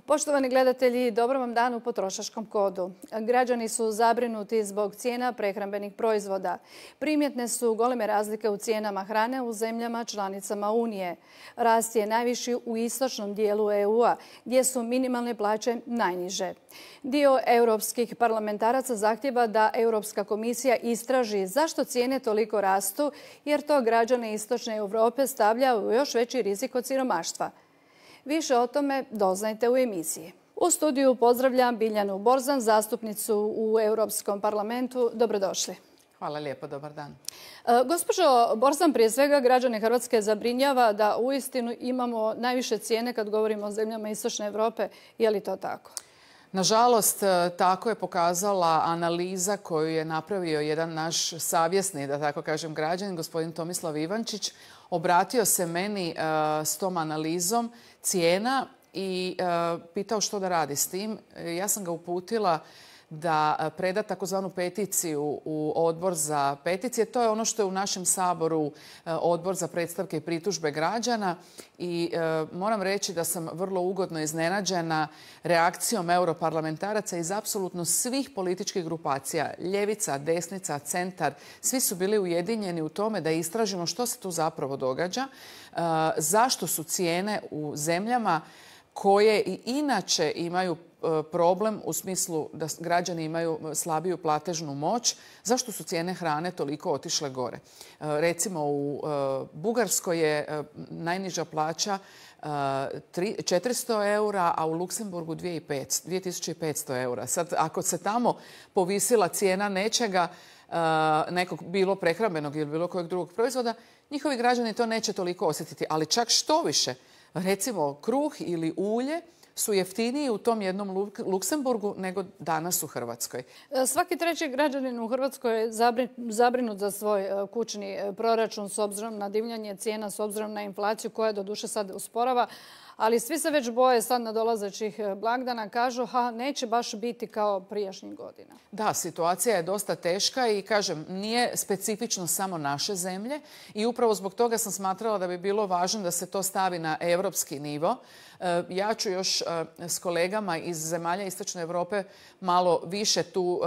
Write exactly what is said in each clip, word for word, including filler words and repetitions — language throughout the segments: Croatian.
Poštovani gledatelji, dobro vam dan u Potrošačkom kodu. Građani su zabrinuti zbog cijena prehrambenih proizvoda. Primjetne su goleme razlike u cijenama hrane u zemljama članicama Unije. Rast je najviši u istočnom dijelu E U-a, gdje su minimalne plaće najniže. Dio europskih parlamentaraca zahtjeva da Europska komisija istraži zašto cijene toliko rastu, jer to građane istočne Europe stavlja u još veći rizik od siromaštva. Više o tome doznajte u emisiji. U studiju pozdravljam Biljanu Borzan, zastupnicu u Europskom parlamentu. Dobrodošli. Hvala lijepo, dobar dan. E, gospođo Borzan, prije svega građane Hrvatske zabrinjava da uistinu imamo najviše cijene kad govorimo o zemljama istočne Europe. Je li to tako? Nažalost, tako je pokazala analiza koju je napravio jedan naš savjesni, da tako kažem, građanin, gospodin Tomislav Ivančić. Obratio se meni s tom analizom cijena i pitao što da radi s tim. Ja sam ga uputila da preda takozvanu peticiju u odbor za peticije. To je ono što je u našem Saboru odbor za predstavke i pritužbe građana i e, moram reći da sam vrlo ugodno iznenađena reakcijom europarlamentaraca iz apsolutno svih političkih grupacija, ljevica, desnica, centar. Svi su bili ujedinjeni u tome da istražimo što se tu zapravo događa, e, zašto su cijene u zemljama koje i inače imaju problem u smislu da građani imaju slabiju platežnu moć, zašto su cijene hrane toliko otišle gore. Recimo u Bugarskoj je najniža plaća četiristo eura, a u Luksemburgu dvije tisuće petsto eura. Sad, ako se tamo povisila cijena nečega, nekog bilo prehrambenog ili bilo kojeg drugog proizvoda, njihovi građani to neće toliko osjetiti. Ali čak što više, recimo kruh ili ulje su jeftiniji u tom jednom Luksemburgu nego danas u Hrvatskoj. Svaki treći građanin u Hrvatskoj je zabrinut za svoj kućni proračun s obzirom na divljanje cijena, s obzirom na inflaciju koja doduše sad usporava. Ali svi se već boje sad nadolazećih blagdana. Kažu, ha, neće baš biti kao prijašnjih godina. Da, situacija je dosta teška i kažem, nije specifično samo naše zemlje i upravo zbog toga sam smatrala da bi bilo važno da se to stavi na europski nivo. Ja ću još s kolegama iz zemalja Istočne Europe malo više tu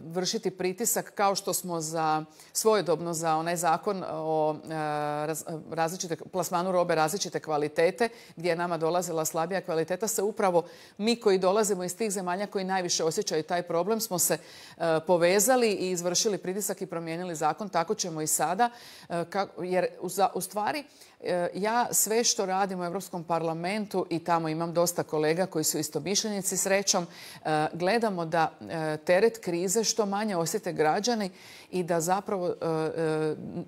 vršiti pritisak kao što smo za svojedobno za onaj zakon o različite, plasmanu robe različite kvalitete gdje je nama dolazila slabija kvaliteta, se upravo mi koji dolazimo iz tih zemalja koji najviše osjećaju taj problem smo se povezali i izvršili pritisak i promijenili zakon. Tako ćemo i sada, jer u stvari ja sve što radim u Europskom parlamentu i tamo imam dosta kolega koji su istomišljenici srećom, gledamo da teret krize što manje osjete građani i da zapravo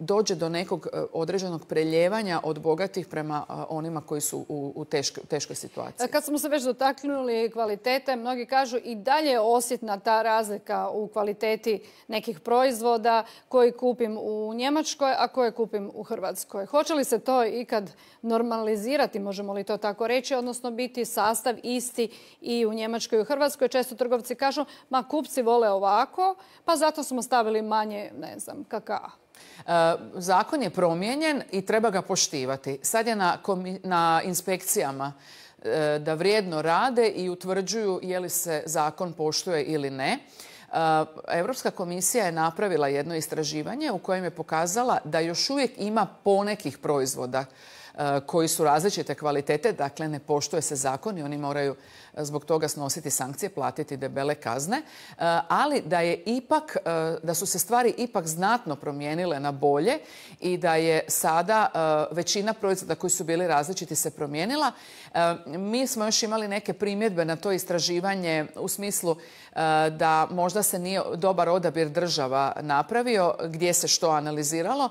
dođe do nekog određenog preljevanja od bogatih prema onima koji su u teškoj situaciji. Kad smo se već dotaknuli kvalitete, mnogi kažu i dalje je osjetna ta razlika u kvaliteti nekih proizvoda koji kupim u Njemačkoj, a koje kupim u Hrvatskoj. Hoće li se to ikad normalizirati, možemo li to tako reći, odnosno biti sastav isti i u Njemačkoj i u Hrvatskoj? Često trgovci kažu, ma kupci vole ovako, pa zato smo stavili manje, ne znam, kakaa. Zakon je promijenjen i treba ga poštivati. Sad je na, na inspekcijama da vrijedno rade i utvrđuju je li se zakon poštuje ili ne. Europska komisija je napravila jedno istraživanje u kojem je pokazala da još uvijek ima ponekih proizvoda koji su različite kvalitete, dakle ne poštuje se zakon i oni moraju zbog toga snositi sankcije, platiti debele kazne, ali da je ipak, da su se stvari ipak znatno promijenile na bolje i da je sada većina proizvoda koji su bili različiti se promijenila. Mi smo još imali neke primjedbe na to istraživanje u smislu da možda se nije dobar odabir država napravio, gdje se što analiziralo,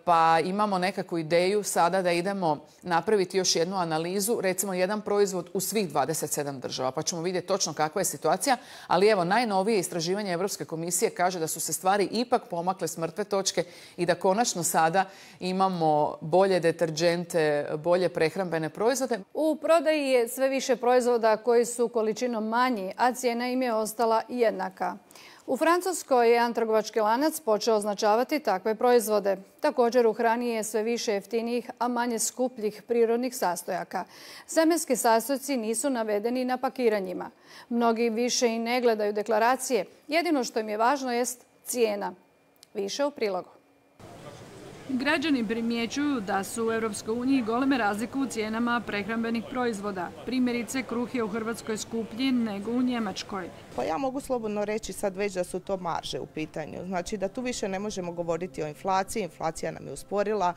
pa imamo nekakvu ideju sada da idemo napraviti još jednu analizu, recimo jedan proizvod u svih dvadeset sedam država, pa ćemo vidjeti točno kakva je situacija. Ali evo, najnovije istraživanje Europske komisije kaže da su se stvari ipak pomakle s mrtve točke i da konačno sada imamo bolje deterdžente, bolje prehrambene proizvode. U prodaji je sve više proizvoda koji su količinom manji, a cijena im je ostala jednaka. U Francuskoj je jedan trgovački lanac počeo označavati takve proizvode. Također u hrani je sve više jeftinijih, a manje skupljih prirodnih sastojaka. Semenski sastojci nisu navedeni na pakiranjima. Mnogi više i ne gledaju deklaracije. Jedino što im je važno jest cijena. Više u prilogu. Građani primjećuju da su u Europskoj uniji goleme razlike u cijenama prehrambenih proizvoda. Primjerice, kruh je u Hrvatskoj skuplji nego u Njemačkoj. Pa ja mogu slobodno reći sad već da su to marže u pitanju. Znači da tu više ne možemo govoriti o inflaciji. Inflacija nam je usporila.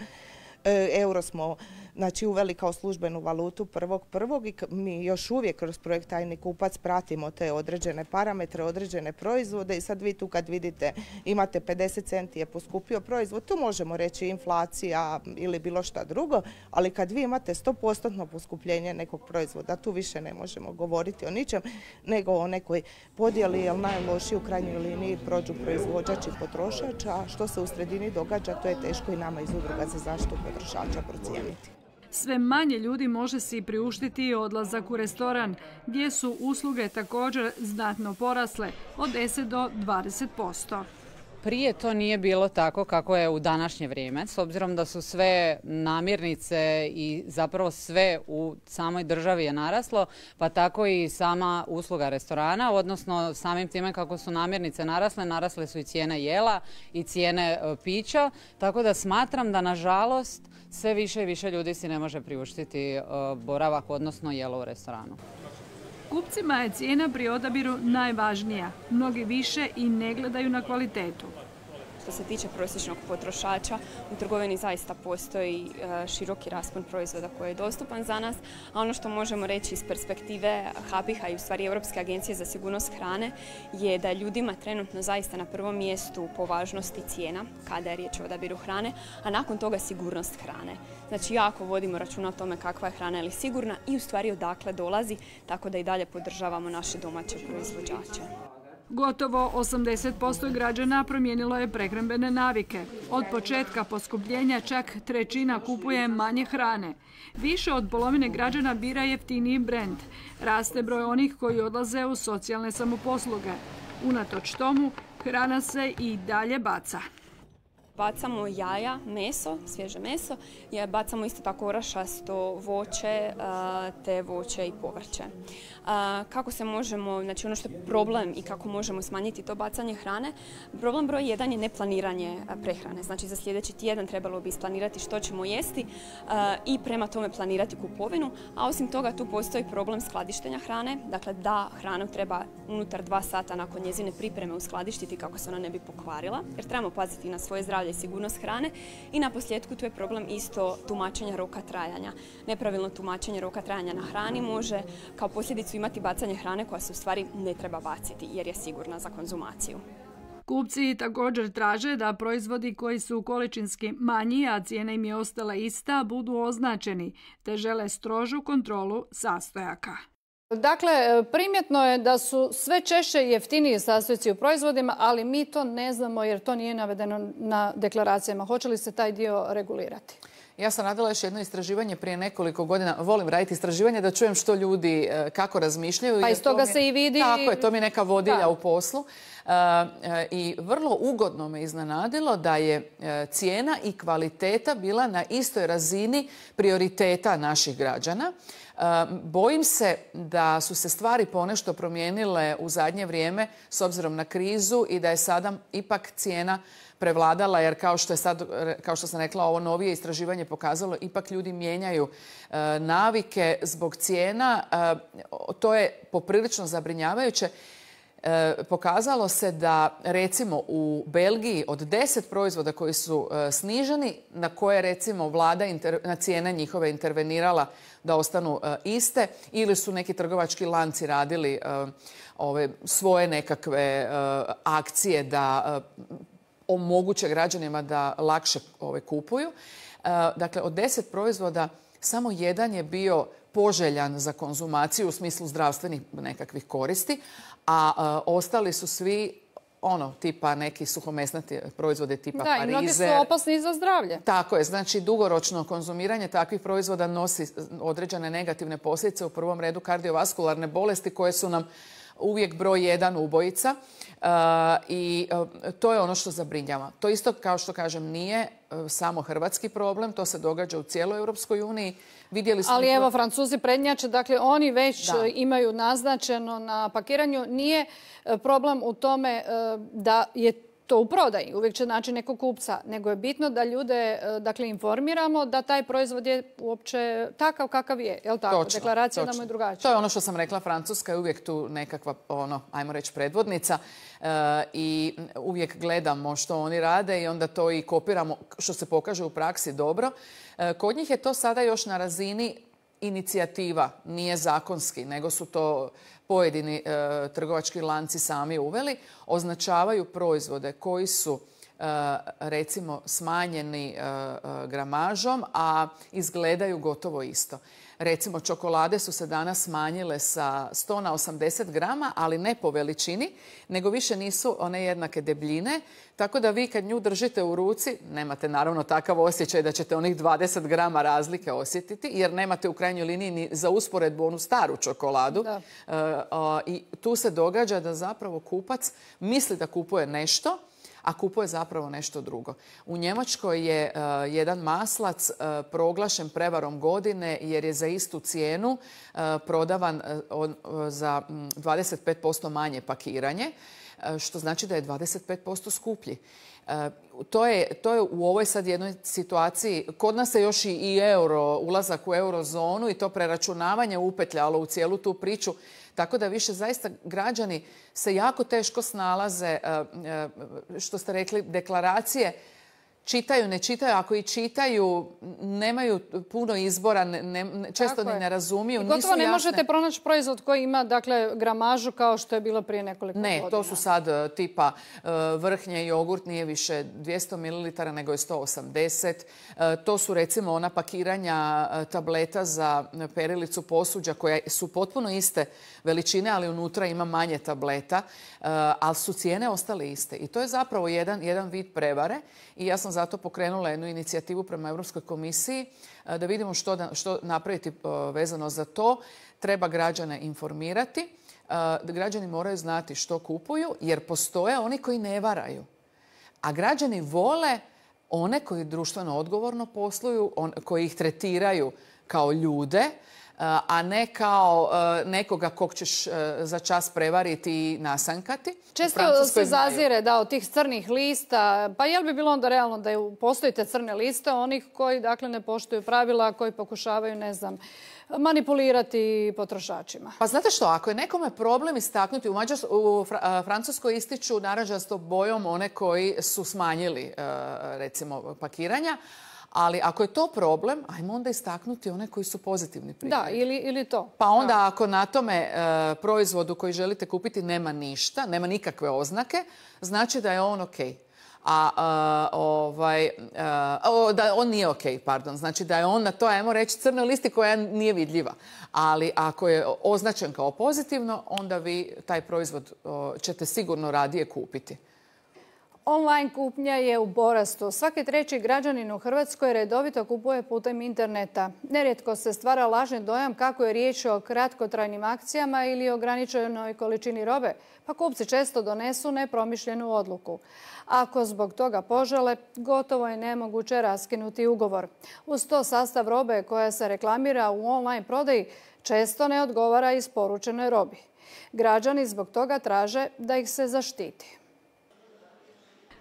Euro smo znači, uveli kao službenu valutu prvog prvog i mi još uvijek kroz projekt Tajni kupac pratimo te određene parametre, određene proizvode i sad vi tu kad vidite imate pedeset centi je poskupio proizvod, tu možemo reći inflacija ili bilo šta drugo, ali kad vi imate sto posto poskupljenje nekog proizvoda, tu više ne možemo govoriti o ničem, nego o nekoj podjeli, jer najlošiji u krajnjoj liniji prođu proizvođač i potrošač, a što se u sredini događa, to je teško i nama iz Udruga za zaštitu potrošača procijeniti. Sve manje ljudi može si priuštiti odlazak u restoran, gdje su usluge također znatno porasle od deset do dvadeset posto. Prije to nije bilo tako kako je u današnje vrijeme, s obzirom da su sve namirnice i zapravo sve u samoj državi je naraslo, pa tako i sama usluga restorana, odnosno samim time kako su namirnice narasle, narasle su i cijene jela i cijene pića, tako da smatram da nažalost sve više i više ljudi si ne može priuštiti boravak, odnosno jelo u restoranu. Kupcima je cijena pri odabiru najvažnija. Mnogi više i ne gledaju na kvalitetu. Što se tiče prosječnog potrošača, u trgovini zaista postoji široki raspon proizvoda koji je dostupan za nas, a ono što možemo reći iz perspektive H B I H-a i u stvari Europske agencije za sigurnost hrane je da je ljudima trenutno zaista na prvom mjestu po važnosti cijena, kada je riječ o odabiru hrane, a nakon toga sigurnost hrane. Znači jako vodimo računa o tome kakva je hrana ili sigurna i u stvari odakle dolazi, tako da i dalje podržavamo naše domaće proizvođače. Gotovo osamdeset posto građana promijenilo je prehrambene navike. Od početka poskupljenja čak trećina kupuje manje hrane. Više od polovine građana bira jeftiniji brend. Raste broj onih koji odlaze u socijalne samoposluge. Unatoč tomu, hrana se i dalje baca. Bacamo jaja, meso, svježe meso, bacamo isto tako orašasto voće te voće i povrće. Kako se možemo, znači ono što je problem i kako možemo smanjiti to bacanje hrane, problem broj jedan je neplaniranje prehrane. Znači za sljedeći tjedan trebalo bi isplanirati što ćemo jesti i prema tome planirati kupovinu, a osim toga tu postoji problem skladištenja hrane, dakle da hranu treba unutar dva sata nakon njezine pripreme uskladištiti kako se ona ne bi pokvarila, jer trebamo paziti na svoje zdravlje i sigurnost hrane i na posljedku tu je problem isto tumačenja roka trajanja. Nepravilno tumačenje roka trajanja na hrani može kao posljedicu imati bacanje hrane koja se u stvari ne treba baciti jer je sigurna za konzumaciju. Kupci također traže da proizvodi koji su količinski manji, a cijena im je ostala ista, budu označeni, te žele strožu kontrolu sastojaka. Dakle, primjetno je da su sve češće jeftiniji sastojci u proizvodima, ali mi to ne znamo jer to nije navedeno na deklaracijama. Hoće li se taj dio regulirati? Ja sam radila još jedno istraživanje prije nekoliko godina. Volim raditi istraživanje da čujem što ljudi kako razmišljaju. Pa iz toga se i vidi. Tako je, to mi je neka vodilja u poslu. I vrlo ugodno me iznenadilo da je cijena i kvaliteta bila na istoj razini prioriteta naših građana. Bojim se da su se stvari ponešto promijenile u zadnje vrijeme s obzirom na krizu i da je sada ipak cijena prevladala, jer kao što je sad, kao što sam rekla, ovo novije istraživanje pokazalo, ipak ljudi mijenjaju e, navike zbog cijena. E, to je poprilično zabrinjavajuće. E, pokazalo se da recimo u Belgiji od deset proizvoda koji su e, sniženi, na koje recimo vlada inter, na cijene njihove intervenirala da ostanu e, iste, ili su neki trgovački lanci radili e, ove svoje nekakve e, akcije da e, omoguće građanima da lakše ove kupuju. E, dakle, od deset proizvoda samo jedan je bio poželjan za konzumaciju u smislu zdravstvenih nekakvih koristi, a e, ostali su svi ono, tipa neki suhomesnati proizvode tipa da, parizer. Da, i mnogi su opasni za zdravlje. Tako je, znači dugoročno konzumiranje takvih proizvoda nosi određene negativne posljedice, u prvom redu kardiovaskularne bolesti koje su nam uvijek broj jedan ubojica. I to je ono što zabrinjava. To isto, kao što kažem, nije samo hrvatski problem, to se događa u cijeloj Europskoj uniji. Vidjeli smo... Ali evo, Francuzi prednjače, dakle oni već da. imaju naznačeno na pakiranju. Nije problem u tome da je to u prodaji, uvijek će naći nekog kupca, nego je bitno da ljude dakle, informiramo da taj proizvod je uopće takav kakav je. Je li tako? Točno, deklaracija točno. nam je drugačija. To je ono što sam rekla, Francuska je uvijek tu nekakva, ono, ajmo reći, predvodnica e, i uvijek gledamo što oni rade i onda to i kopiramo što se pokaže u praksi dobro. E, kod njih je to sada još na razini inicijativa, nije zakonski, nego su to pojedini e, trgovački lanci sami uveli, označavaju proizvode koji su e, recimo smanjeni e, gramažom, a izgledaju gotovo isto. Recimo, čokolade su se danas smanjile sa sto na osamdeset grama, ali ne po veličini, nego više nisu one jednake debljine. Tako da vi kad nju držite u ruci, nemate naravno takav osjećaj da ćete onih dvadeset grama razlike osjetiti, jer nemate u krajnjoj liniji ni za usporedbu onu staru čokoladu. Da. E, a, I tu se događa da zapravo kupac misli da kupuje nešto, a kupuje zapravo nešto drugo. U Njemačkoj je uh, jedan maslac uh, proglašen prevarom godine jer je za istu cijenu uh, prodavan uh, on, uh, za um, dvadeset pet posto manje pakiranje, uh, što znači da je dvadeset pet posto skuplji. Uh, to, je, to je u ovoj sad jednoj situaciji, kod nas se još i, i euro, ulazak u eurozonu i to preračunavanje upetljalo u cijelu tu priču. Tako da više zaista građani se jako teško snalaze, što ste rekli, deklaracije. Čitaju, ne čitaju, ako i čitaju, nemaju puno izbora, ne, ne, često ni ne razumiju. I gotovo ne možete pronaći proizvod koji ima dakle, gramažu kao što je bilo prije nekoliko ne, godina. Ne, to su sad tipa vrhnje jogurt, nije više dvjesto mililitara, nego je sto osamdeset. To su recimo ona pakiranja tableta za perilicu posuđa koja su potpuno iste veličine, ali unutra ima manje tableta, ali su cijene ostale iste. I to je zapravo jedan, jedan vid prevare i ja sam zato pokrenula jednu inicijativu prema Europskoj komisiji da vidimo što, da, što napraviti vezano za to. Treba građane informirati. Građani moraju znati što kupuju jer postoje oni koji ne varaju. A građani vole one koji društveno odgovorno posluju, on, koji ih tretiraju kao ljude, a ne kao nekoga kog ćeš za čas prevariti i nasankati. Često se zazire da od tih crnih lista, pa jel bi bilo onda realno da postoje te crne liste onih koji dakle ne poštuju pravila, koji pokušavaju, ne znam, manipulirati potrošačima? Pa znate što, ako je nekome problem istaknuti, u, Mađars, u Francuskoj ističu narančastom bojom one koji su smanjili recimo pakiranja, ali ako je to problem, ajmo onda istaknuti one koji su pozitivni primjeri. Da, ili, ili to. Pa onda da. Ako na tome e, proizvodu koji želite kupiti nema ništa, nema nikakve oznake, znači da je on ok. A, a ovaj, a, o, da on nije ok, pardon. Znači da je on na to, ajmo reći, crnoj listi koja nije vidljiva. Ali ako je označen kao pozitivno, onda vi taj proizvod o, ćete sigurno radije kupiti. Online kupnja je u porastu. Svaki treći građanin u Hrvatskoj redovito kupuje putem interneta. Nerijetko se stvara lažni dojam kako je riječ o kratkotrajnim akcijama ili ograničenoj količini robe, pa kupci često donesu nepromišljenu odluku. Ako zbog toga požele, gotovo je nemoguće raskinuti ugovor. Uz to sastav robe koja se reklamira u online prodaji često ne odgovara isporučenoj robi. Građani zbog toga traže da ih se zaštiti.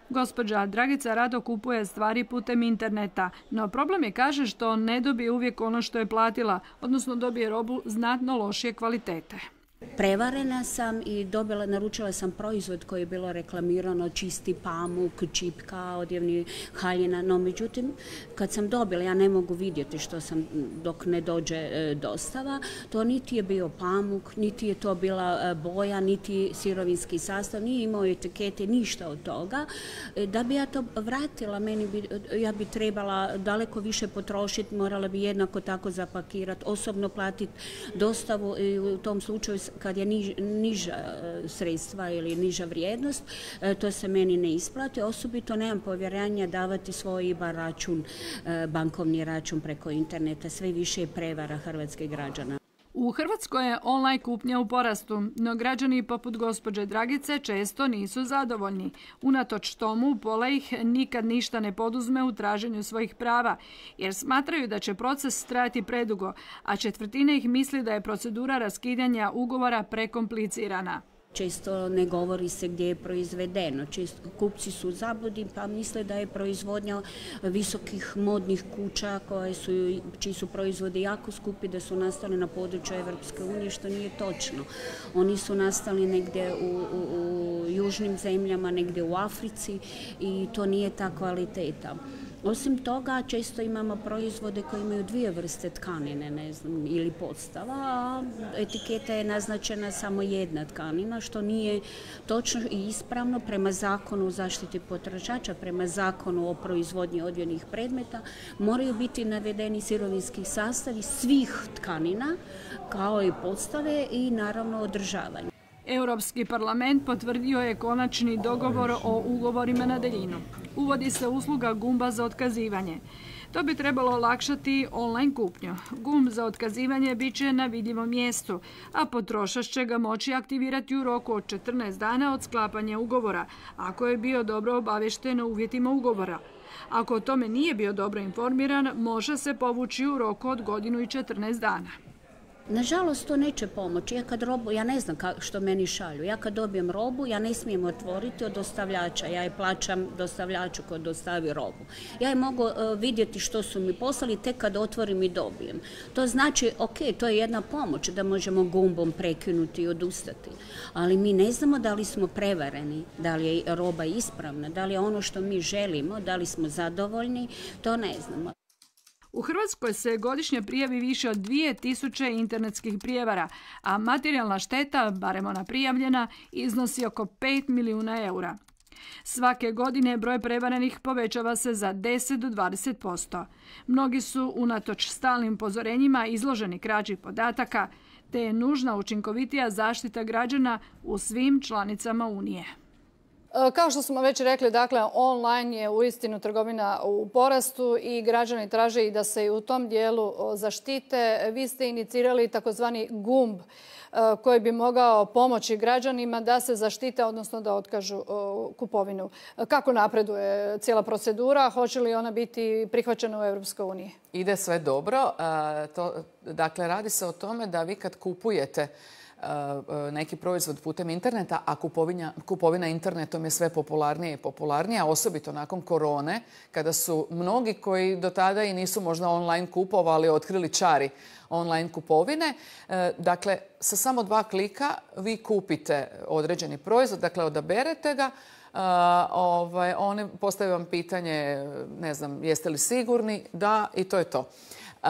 Gospođa Dragica rado kupuje stvari putem interneta, no problem je, kaže, što ne dobije uvijek ono što je platila, odnosno dobije robu znatno lošije kvalitete. Prevarena sam i dobila, naručila sam proizvod koji je bilo reklamirano, čisti pamuk, čipka, odjevni haljina, no međutim kad sam dobila, ja ne mogu vidjeti što sam dok ne dođe e, dostava, to niti je bio pamuk, niti je to bila e, boja, niti sirovinski sastav, nije imao etikete, ništa od toga. E, da bi ja to vratila, meni bi, ja bi trebala daleko više potrošiti, morala bi jednako tako zapakirati, osobno platiti dostavu i u tom slučaju kad je niž, niža sredstva ili niža vrijednost, to se meni ne isplati. Osobito nemam povjerenja davati svoj I B A račun, bankovni račun preko interneta. Sve više je prevara hrvatskih građana. U U Hrvatskoj je online kupnja u porastu, no građani poput gospođe Dragice često nisu zadovoljni. Unatoč tomu, pola ih nikad ništa ne poduzme u traženju svojih prava, jer smatraju da će proces trajati predugo, a četvrtina ih misli da je procedura raskidanja ugovora prekomplicirana. Često ne govori se gdje je proizvedeno. Često kupci su u zabludi pa misle da je proizvodnja visokih modnih kuća koje su, čiji su proizvodi jako skupi, da su nastali na području Evropske unije, što nije točno. Oni su nastali negdje u, u, u južnim zemljama, negdje u Africi i to nije ta kvaliteta. Osim toga, često imamo proizvode koji imaju dvije vrste tkanine, ne znam, ili podstava, a etiketa je naznačena samo jedna tkanina, što nije točno i ispravno prema zakonu o zaštiti potrošača, prema zakonu o proizvodnji odjećnih predmeta. Moraju biti navedeni sirovinski sastavi svih tkanina, kao i podstave i naravno održavanje. Europski parlament potvrdio je konačni dogovor o ugovorima na daljinu. Uvodi se usluga gumba za otkazivanje. To bi trebalo olakšati online kupnju. Gumb za otkazivanje bit će na vidljivom mjestu, a potrošač će ga moći aktivirati u roku od četrnaest dana od sklapanja ugovora, ako je bio dobro obavješten o uvjetima ugovora. Ako o tome nije bio dobro informiran, može se povući u roku od godinu i četrnaest dana. Nažalost, to neće pomoći. Ja kad robu, ja ne znam što meni šalju. Ja kad dobijem robu, ja ne smijem otvoriti od dostavljača. Ja je plaćam dostavljaču koji dostavi robu. Ja je mogu uh, vidjeti što su mi poslali tek kad otvorim i dobijem. To znači, ok, to je jedna pomoć da možemo gumbom prekinuti i odustati. Ali mi ne znamo da li smo prevareni, da li je roba ispravna, da li je ono što mi želimo, da li smo zadovoljni, to ne znamo. U Hrvatskoj se godišnje prijavi više od dvije tisuće internetskih prijevara, a materijalna šteta, barem ona prijavljena, iznosi oko pet milijuna eura. Svake godine broj prevarenih povećava se za deset do dvadeset posto. Mnogi su unatoč stalnim upozorenjima izloženi krađi podataka, te je nužna učinkovitija zaštita građana u svim članicama Unije. Kao što smo već rekli, dakle, online je uistinu trgovina u porastu i građani traže i da se i u tom dijelu zaštite. Vi ste inicirali takozvani gumb koji bi mogao pomoći građanima da se zaštite, odnosno da otkažu kupovinu. Kako napreduje cijela procedura? Hoće li ona biti prihvaćena u Europskoj uniji? Ide sve dobro. To, dakle, radi se o tome da vi kad kupujete neki proizvod putem interneta, a kupovina, kupovina internetom je sve popularnija i popularnija, osobito nakon korone, kada su mnogi koji do tada i nisu možda online kupovali, otkrili čari online kupovine. Dakle, sa samo dva klika vi kupite određeni proizvod, dakle odaberete ga, Uh, ovaj, oni postave vam pitanje, ne znam, jeste li sigurni? Da, i to je to. Uh,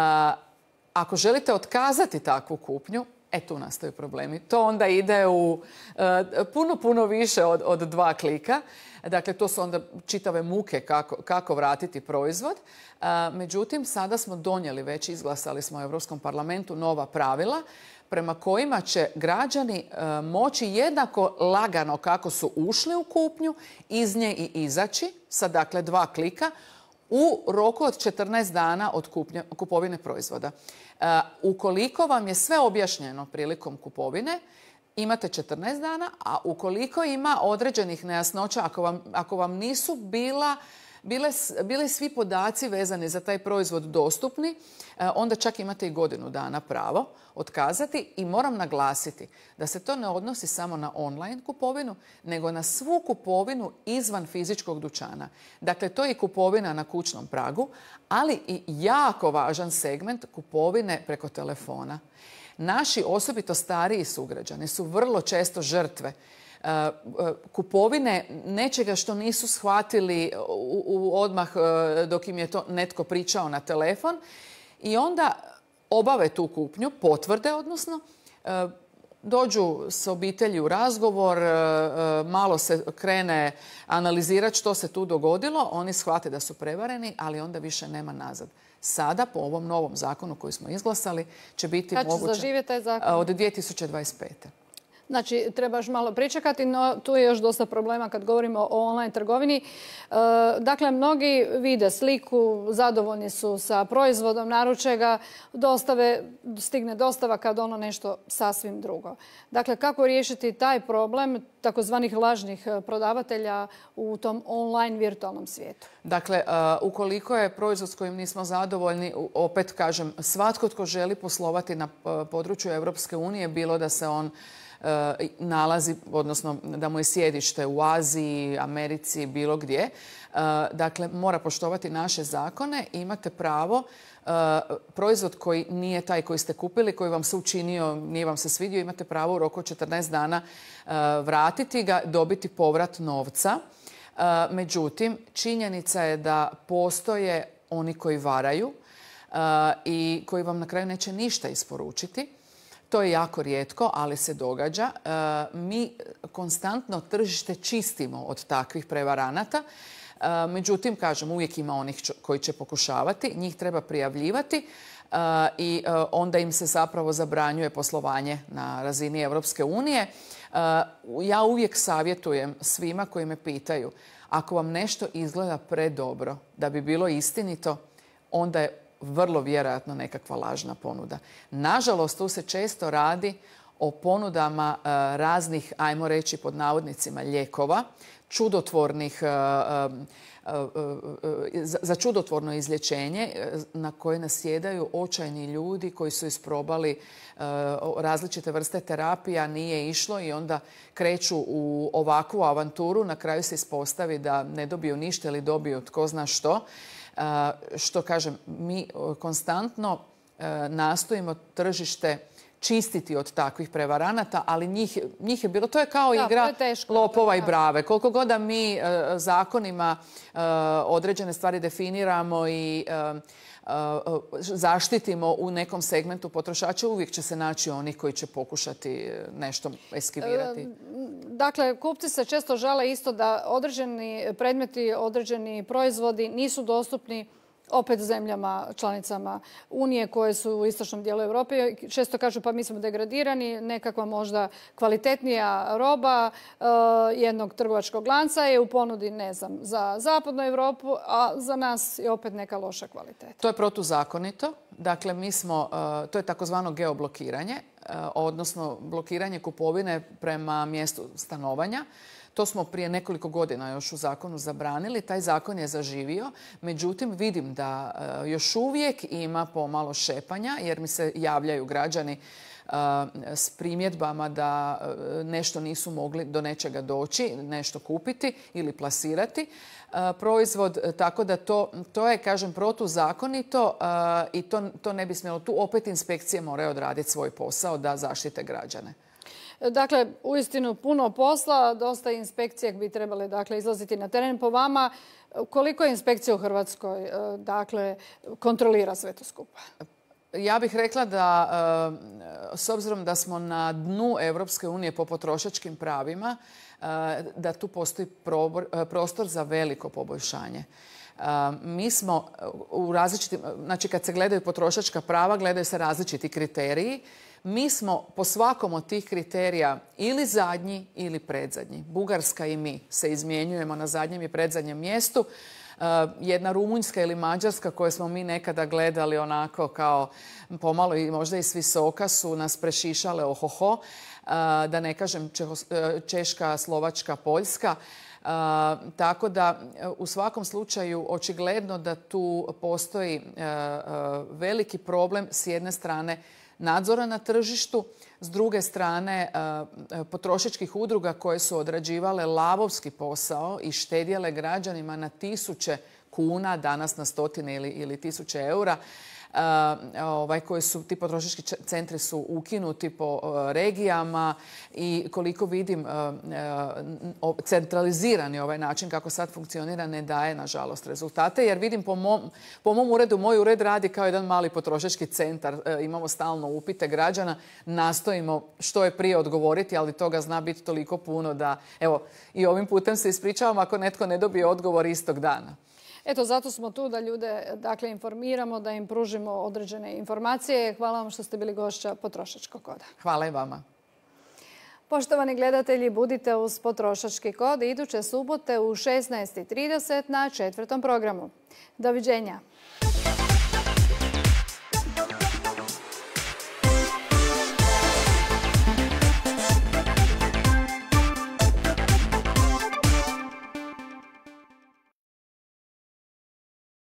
ako želite otkazati takvu kupnju, e tu nastaju problemi. To onda ide u uh, puno, puno više od, od dva klika. Dakle, to su onda čitave muke kako, kako vratiti proizvod. Uh, međutim, sada smo donijeli, već izglasali smo u Europskom parlamentu nova pravila prema kojima će građani uh, moći jednako lagano kako su ušli u kupnju, iz nje i izaći sa dakle dva klika u roku od četrnaest dana od kupnje, kupovine proizvoda. Uh, ukoliko vam je sve objašnjeno prilikom kupovine, imate četrnaest dana, a ukoliko ima određenih nejasnoća, ako vam, ako vam nisu bila, bile, bile svi podaci vezani za taj proizvod dostupni, onda čak imate i godinu dana pravo otkazati. I moram naglasiti da se to ne odnosi samo na online kupovinu, nego na svu kupovinu izvan fizičkog dućana. Dakle, to je i kupovina na kućnom pragu, ali i jako važan segment kupovine preko telefona. Naši osobito stariji sugrađani su vrlo često žrtve kupovine nečega što nisu shvatili u, u odmah dok im je to netko pričao na telefon i onda obave tu kupnju, potvrde odnosno, dođu s obitelji u razgovor, malo se krene analizirati što se tu dogodilo, oni shvate da su prevareni, ali onda više nema nazad. Sada, po ovom novom zakonu koji smo izglasali, će biti moguće taj zakon? Od dvije tisuće dvadeset pete. Znači, trebaš malo pričekati, no tu je još dosta problema kad govorimo o online trgovini. Dakle, mnogi vide sliku, zadovoljni su sa proizvodom, naruče ga, dostave, stigne dostava kad ono nešto sasvim drugo. Dakle, kako riješiti taj problem takozvanih lažnih prodavatelja u tom online virtualnom svijetu? Dakle, ukoliko je proizvod s kojim nismo zadovoljni, opet kažem, svatko tko želi poslovati na području Europske unije, bilo da se on nalazi, odnosno da mu je sjedište u Aziji, Americi, bilo gdje. Dakle, mora poštovati naše zakone i imate pravo proizvod koji nije taj koji ste kupili, koji vam se učinio, nije vam se svidio, imate pravo u roku od četrnaest dana vratiti ga, dobiti povrat novca. Međutim, činjenica je da postoje oni koji varaju i koji vam na kraju neće ništa isporučiti. To je jako rijetko, ali se događa. Mi konstantno tržište čistimo od takvih prevaranata. Međutim, kažem, uvijek ima onih koji će pokušavati. Njih treba prijavljivati i onda im se zapravo zabranjuje poslovanje na razini Europske unije. Ja uvijek savjetujem svima koji me pitaju, ako vam nešto izgleda predobro da bi bilo istinito, onda je vrlo vjerojatno nekakva lažna ponuda. Nažalost, tu se često radi o ponudama raznih, ajmo reći pod navodnicima, lijekova, čudotvornih, za čudotvorno izlječenje na koje nasjedaju očajni ljudi koji su isprobali različite vrste terapija, nije išlo i onda kreću u ovakvu avanturu. Na kraju se ispostavi da ne dobiju ništa ili dobiju tko zna što. Što kažem, mi konstantno nastojimo tržište čistiti od takvih prevaranata, ali njih, njih je bilo, to je kao da, igra je teško, lopova da. i brave. Koliko god da mi uh, zakonima uh, određene stvari definiramo i uh, uh, zaštitimo u nekom segmentu potrošača, uvijek će se naći oni koji će pokušati nešto eskivirati. Dakle, kupci se često žale isto da određeni predmeti, određeni proizvodi nisu dostupni opet zemljama, članicama Unije koje su u istočnom dijelu Europe. Često kažu pa mi smo degradirani, nekakva možda kvalitetnija roba uh, jednog trgovačkog lanca je u ponudi, ne znam, za zapadnu Europu, a za nas je opet neka loša kvaliteta. To je protuzakonito. Dakle, mi smo, uh, to je takozvano geoblokiranje, uh, odnosno blokiranje kupovine prema mjestu stanovanja. To smo prije nekoliko godina još u zakonu zabranili. Taj zakon je zaživio. Međutim, vidim da uh, još uvijek ima pomalo šepanja jer mi se javljaju građani uh, s primjedbama da uh, nešto nisu mogli do nečega doći, nešto kupiti ili plasirati uh, proizvod. Tako da to, to je, kažem, protuzakonito uh, i to, to ne bi smjelo. Tu opet inspekcije moraju odraditi svoj posao da zaštite građane. Dakle, uistinu puno posla, dosta inspekcija bi trebale dakle, izlaziti na teren. Po vama, koliko je inspekcija u Hrvatskoj dakle, kontrolira sve to skupa? Ja bih rekla da, s obzirom da smo na dnu Europske unije po potrošačkim pravima, da tu postoji prostor za veliko poboljšanje. Mi smo u različitim, znači kad se gledaju potrošačka prava, gledaju se različiti kriteriji. Mi smo po svakom od tih kriterija ili zadnji ili predzadnji. Bugarska i mi se izmjenjujemo na zadnjem i predzadnjem mjestu. Jedna Rumunjska ili Mađarska koje smo mi nekada gledali onako kao pomalo i možda i s visoka su nas prešišale ohoho. Da ne kažem Češka, Slovačka, Poljska. Uh, tako da u svakom slučaju očigledno da tu postoji uh, uh, veliki problem s jedne strane nadzora na tržištu, s druge strane uh, potrošačkih udruga koje su odrađivale lavovski posao i štedjele građanima na tisuće kuna, danas na stotine ili, ili tisuće eura. Uh, ovaj, koji su, ti potrošački centri su ukinuti po uh, regijama i koliko vidim uh, uh, centralizirani ovaj način kako sad funkcionira ne daje nažalost rezultate jer vidim po mom, po mom uredu, moj ured radi kao jedan mali potrošački centar. Uh, imamo stalno upite građana, nastojimo što je prije odgovoriti, ali toga zna biti toliko puno da evo i ovim putem se ispričavam ako netko ne dobije odgovor istog dana. Eto, zato smo tu da ljude dakle, informiramo, da im pružimo određene informacije. Hvala vam što ste bili gošća Potrošačkog koda. Hvala i vama. Poštovani gledatelji, budite uz Potrošački kod iduće subote u šesnaest i trideset na četvrtom programu. Doviđenja.